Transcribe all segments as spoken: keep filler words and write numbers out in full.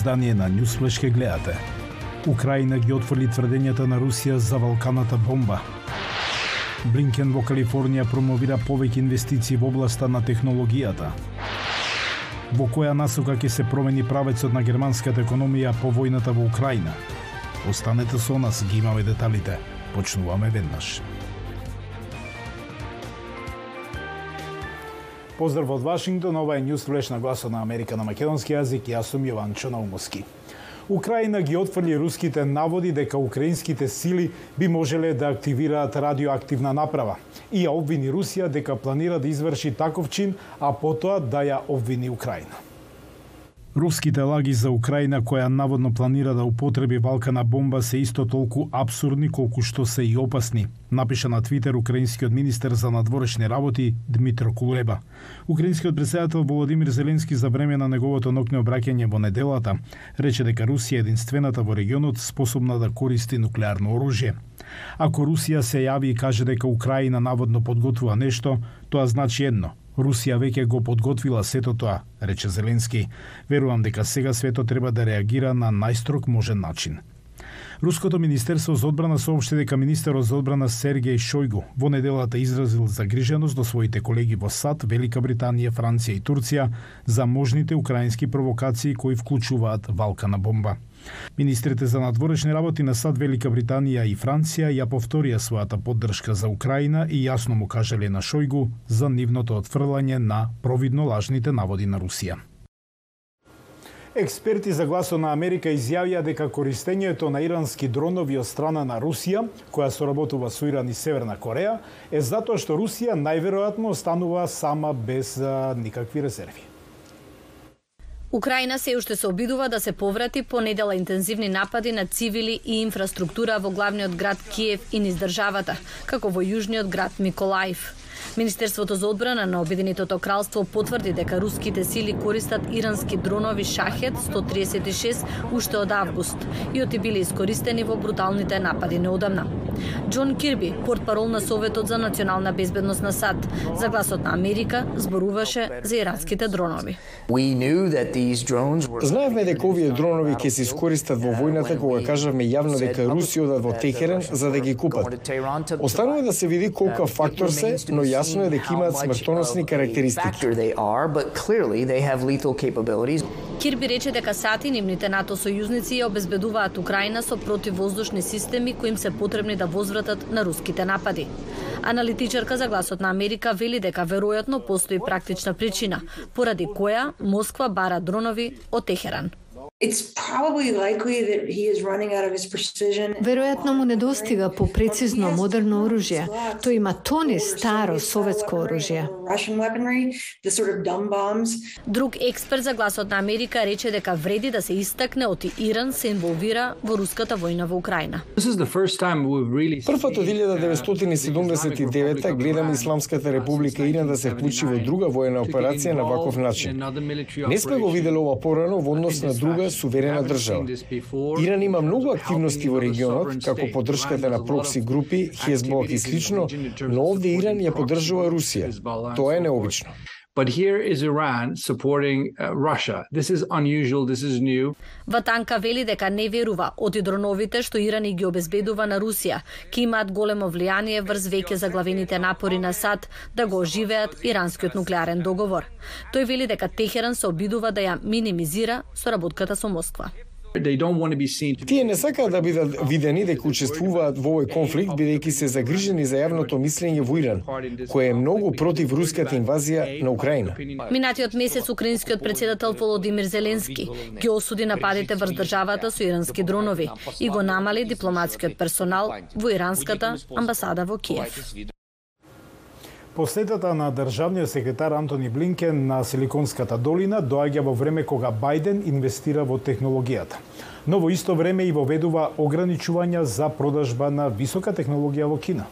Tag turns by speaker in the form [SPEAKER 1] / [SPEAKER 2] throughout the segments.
[SPEAKER 1] издание на Newsflash ке гледате. Украина ги отфрли тврдењата на Русија за Валканата бомба. Блинкен во Калифорнија промовира повеќе инвестиции во областа на технологијата. Во која насока ќе се промени правецот на германската економија по војната во Украина? Останете со нас, ги имаме деталите. Почнуваме веднаш. Поздрав од Вашингтон, ова е Newsflash на Гласот на Америка на македонски јазик, јас сум Јованчо Наумовски. Украина ги отфрли руските наводи дека украинските сили би можеле да активираат радиоактивна направа и ја обвини Русија дека планира да изврши таков чин, а потоа да ја обвини Украина. Руските лаги за Украина, која наводно планира да употреби валкана бомба, се исто толку апсурдни колку што се и опасни, напиша на Твитер украинскиот министер за надворешни работи Дмитро Кулеба. Украинскиот претседател Володимир Зеленски за време на неговото ноќно обраќање во неделата рече дека Русија е единствената во регионот способна да користи нуклеарно оружје. Ако Русија се јави и каже дека Украина наводно подготвува нешто, тоа значи едно: Русија веќе го подготвила сето тоа, рече Зеленски. Верувам дека сега светот треба да реагира на најстрог можен начин. Руското министерство за одбрана соопшти дека министерот за одбрана Сергеј Шојгу во неделата изразил загриженост до своите колеги во САД, Велика Британија, Франција и Турција за можните украински провокации кои вклучуваат валкана бомба. Министрите за надворешни работи на САД, Велика Британија и Франција ја повторија својата поддршка за Украина и јасно му кажале на Шојгу за нивното отфрлање на провидно лажните наводи на Русија. Експерти за Гласот на Америка изјавија дека користењето на ирански дронови од страна на Русија, која соработува со Иран и Северна Кореја, е затоа што Русија најверојатно останува сама без а, никакви резерви.
[SPEAKER 2] Украина се уште се обидува да се поврати по недела интензивни напади на цивили и инфраструктура во главниот град Киев и низ државата, како во јужниот град Миколаев. Министерството за одбрана на Обединетото кралство потврди дека руските сили користат ирански дронови Шахед сто триесет и шест уште од август и оти биле искористени во бруталните напади неодамна. Џон Кирби, портпарол на Советот за национална безбедност на САД, за Гласот на Америка зборуваше за иранските дронови.
[SPEAKER 3] Знаевме дека овие дронови ќе се искористат во војната кога кажавме јавно дека Русија одат во Техеран за да ги купат. Останува да се види колку фактор се, но јасно е дека имаат смртоносни карактеристики.
[SPEAKER 2] Кирби рече дека САД и нивните НАТО сојузници ја обезбедуваат Украина со противвоздушни системи кои им се потребни да возвратат на руските напади. Аналитичарка за Гласот на Америка вели дека веројатно постои практична причина, поради која Москва бара дронови од Техеран.
[SPEAKER 4] Веројатно му недостига по прецизно модерно оружје. Тој има тони старо советско оружје.
[SPEAKER 2] Друг експерт за Гласот на Америка рече дека вреди да се истакне оти Иран се инволвира во руската војна во Украина.
[SPEAKER 3] Првпат од илјада деветстотини и седумдесет и девета гледаме Исламската република Иран да се вклучи во друга војна операција на ваков начин. Не сме го виделе ова порано во однос на друга суверена држава. Иран има многу активности во регионот, како поддршката на прокси групи, Хезболах и слично, но овде Иран ја поддржува Русија. Тоа е необично.
[SPEAKER 5] But here is Iran supporting uh, Russia. This is unusual, this is new.
[SPEAKER 2] Ватанка вели дека не верува оти дроновите што Иран и ги обезбедува на Русија, ки имаат големо влијание врз веќе заглавените напори на САД да го оживеат иранскиот нуклеарен договор. Тој вели дека Техеран се обидува да ја минимизира соработката со Москва.
[SPEAKER 3] Тие не сакаат да бидат видени дека учествуваат во овој конфликт, бидејќи се загрижени за јавното мислење во Иран, кој е многу против руската инвазија на Украина.
[SPEAKER 2] Минатиот месец украинскиот претседател Володимир Зеленски ги осуди нападите врз државата со ирански дронови и го намали дипломатскиот персонал во иранската амбасада во Киев.
[SPEAKER 1] Посетата на државниот секретар Антони Блинкен на Силиконската долина доаѓа во време кога Бајден инвестира во технологијата. Но во исто време и воведува ограничувања за продажба на висока технологија во Кина.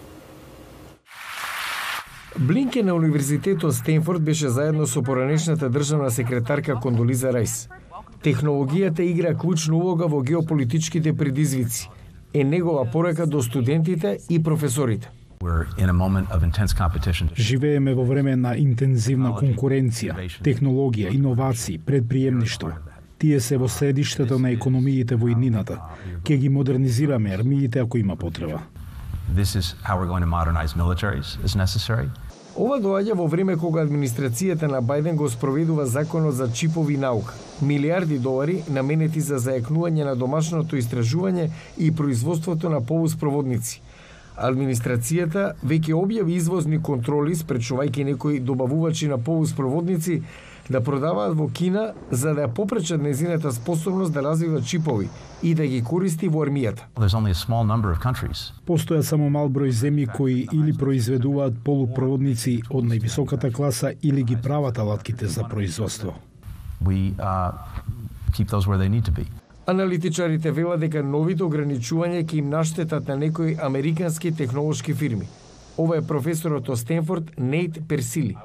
[SPEAKER 3] Блинкен на Универзитетот Стенфорд беше заедно со поранешната државна секретарка Кондолиза Рајс. Технологијата игра клучна улога во геополитичките предизвици. Е негова порека до студентите и професорите.
[SPEAKER 1] Живееме во време на интензивна конкуренција, технологија, иновации, предприемништво. Тие се во средиштето на економиите во иднината. Ке ги модернизираме армиите ако има потреба.
[SPEAKER 6] This is how we're going to modernize militaries as necessary.
[SPEAKER 3] Ова доаѓа во време кога администрацијата на Бајден го спроведува законот за чипови наука. Милиарди долари наменети за зајакнување на домашното истражување и производството на полуспроводници. Администрацијата веќе објави извозни контроли спречувајќи некои добавувачи на полуспроводници да продаваат во Кина за да попречат нејзината способност да развива чипови и да ги користи во армијата.
[SPEAKER 1] Постојат само мал број земји кои или произведуваат полупроводници од највисоката класа или ги прават алатките за производство.
[SPEAKER 6] We uh, keep those where they need to be.
[SPEAKER 3] Аналитичарите велат дека новите ограничувања ќе им наштетат на некои американски технолошки фирми. Ова е професорот од Стенфорд Нейт Персили.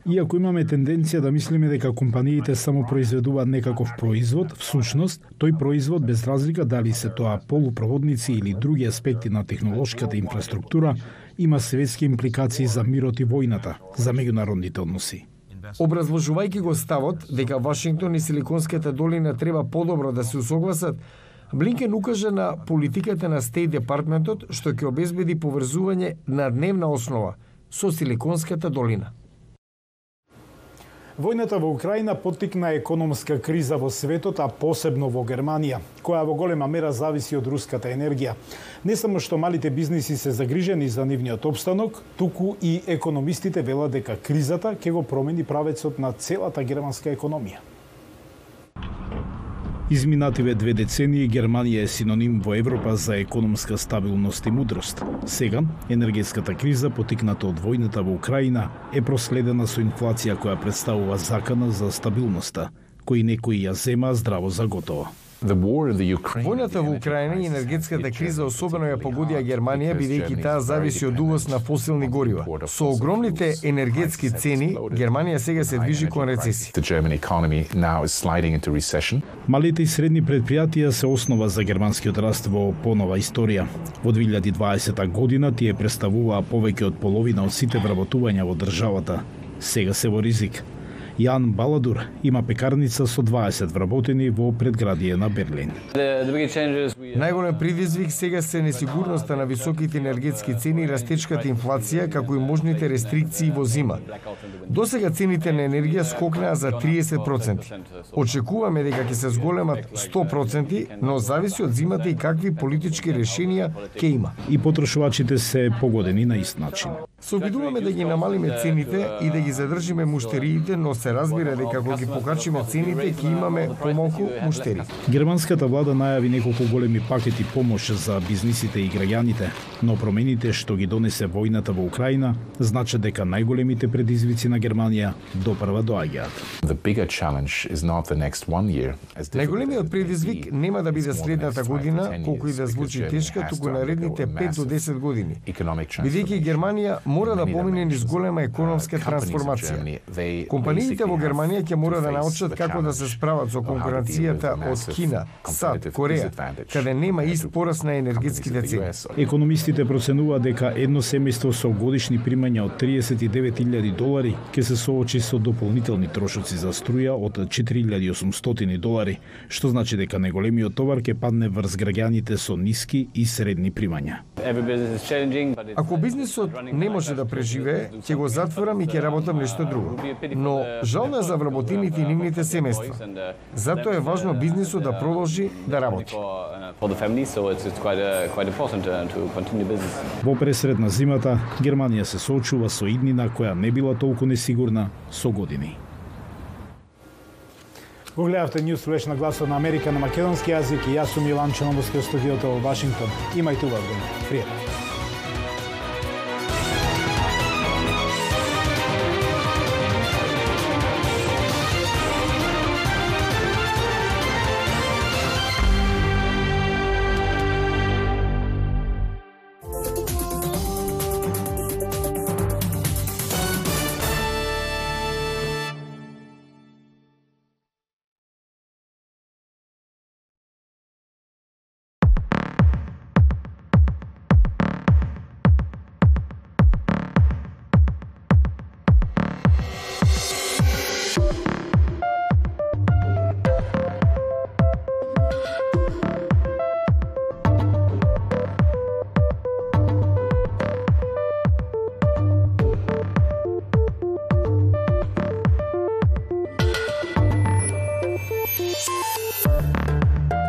[SPEAKER 1] Иако имаме тенденција да мислиме дека компаниите само произведуваат некаков производ, всушност, тој производ без разлика дали се тоа полупроводници или други аспекти на технолошката инфраструктура, има светски импликации за мирот и војната, за меѓународните односи.
[SPEAKER 3] Образложувајќи го ставот дека Вашингтон и Силиконската долина треба подобро да се усогласат, Блинкен укажа на политиката на Стейт Департментот што ќе обезбеди поврзување на дневна основа со Силиконската долина.
[SPEAKER 1] Војната во Украина поттикна економска криза во светот, а посебно во Германија, која во голема мера зависи од руската енергија. Не само што малите бизниси се загрижени за нивниот опстанок, туку и економистите велат дека кризата ќе го промени правецот на целата германска економија. Изминативе две децении Германија е синоним во Европа за економска стабилност и мудрост. Сега, енергетската криза, потикната од војната во Украина, е проследена со инфлација која представува закана за стабилноста, кои некои ја зема здраво за готово.
[SPEAKER 3] Војната во Украина и енергетската криза особено ја погодија Германија, бидејќи таа зависи од увоз на фосилни горива. Со огромните енергетски цени, Германија сега се движи кон рецесија.
[SPEAKER 1] Малите и средни предпријатија се основа за германскиот раст во понова историја. Во две илјади и дваесета година тие представуваа повеќе од половина од сите вработувања во државата. Сега се во ризик. Јан Баладур има пекарница со дваесет вработени во предградие на Берлин.
[SPEAKER 3] Најголем предизвик сега се несигурноста на високите енергетски цени и растечката инфлација, како и можните рестрикции во зима. Досега цените на енергија скокнаа за триесет проценти. Очекуваме дека ќе се зголемат сто проценти, но зависи од зимата и какви политички решенија ќе има.
[SPEAKER 1] И потрошувачите се погодени на ист начин.
[SPEAKER 3] Се обидуваме да ги намалиме цените и да ги задржиме муштериите, но се разбира дека кога ги покачиме цените ќе имаме помалку муштери.
[SPEAKER 1] Германската влада најави неколку големи пакети помош за бизнисите и граѓаните, но промените што ги донесе војната во Украина значат дека најголемите предизвици на Германија допрва доаѓаат.
[SPEAKER 3] Најголемиот предизвик нема да биде следната година, колку и да звучи тешка, туку наредните пет до десет години. Бидејќи Германија мора да помине низ голема економска трансформација. Компаниите во Германија ќе мора да научат како да се справат со конкуренцијата од Кина, САД, Кореја, каде нема ист пораст на енергетските цени.
[SPEAKER 1] Економистите проценуваат дека едно семејство со годишни примања од триесет и девет илјади долари ќе се соочи со дополнителни трошоци за струја од четири илјади и осумстотини долари, што значи дека најголемиот товар ќе падне врз граѓаните со ниски и средни примања.
[SPEAKER 3] Ако бизнисот не може да преживее, ќе го затворам и ќе работам нешто друго. Но жално е за вработените и нивните семејства. Затоа е важно бизнисот да продолжи да работи.
[SPEAKER 1] Во пресред на зимата, Германија се соочува со иднина која не била толку несигурна со години. Го гледавте News Flash на Гласот на Америка на македонски јазик и јас сум Јован Чономовски од студиото во Вашингтон. Имајте убав ден. Пријатно.
[SPEAKER 7] Thank you.